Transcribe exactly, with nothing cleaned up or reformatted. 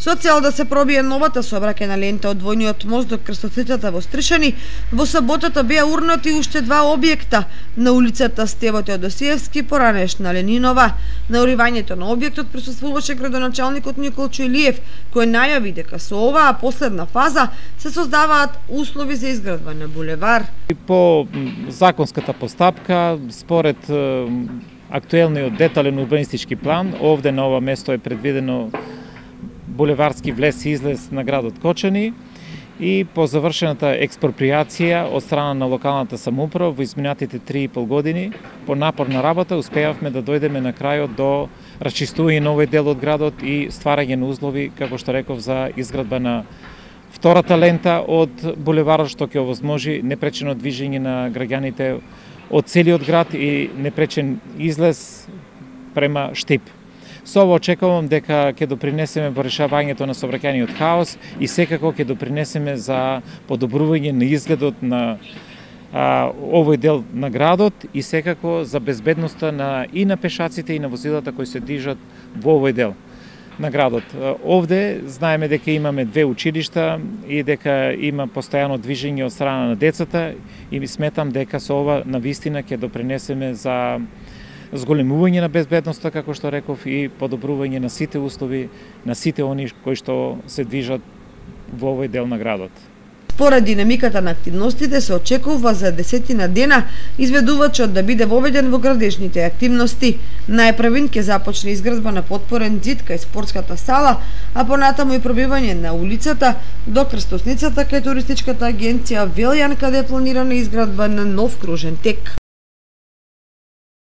Со цел да се пробие новата сообраќајна лента од двојниот мост до крстосницата во Стришани, во саботата беа урнати уште два објекта на улицата Стево Теодосиевски, поранешна Ленинова. На уривањето на објектот присуствуваше градоначалникот Николчо Илиев, кој најави дека со оваа последна фаза се создаваат услови за изградба на булевар. По законската постапка, според актуелниот детален урбанистички план, овде на ова место е предвидено булеварски влез и излез на градот Кочани и по завршената експроприација од страна на локалната самоуправа во изминатите три и пол години, по напорна работа успеавме да дојдеме на крајот до расчистување на овој дел од градот и стварање на услови, како што реков, за изградба на втората лента од булеварот, што ќе овозможи непречено движење на граѓаните од целиот град и непречен излез према Штип. Со ово очекувам дека ќе допринесеме во решавањето на сообраќајниот хаос и секако ќе допринесеме за подобрување на изгледот на а, овој дел на градот и секако за безбедноста на и на пешаците и на возилата кои се движат во овој дел на градот. Овде знаеме дека имаме две училишта и дека има постојано движење од страна на децата и сметам дека со ова навистина ќе допринесеме за зголемување на безбедноста, како што реков, и подобрување на сите услови на сите они кои што се движат во овој дел на градот. Според динамиката на активностите се очекува за десетина дена изведувачот да биде воведен во градежните активности. Најпрвин ќе започне изградба на потпорен ѕид кај спортската сала, а понатаму и пробивање на улицата до крстосницата кај туристичката агенција Велјан, каде е планирана изградба на нов кружен тек.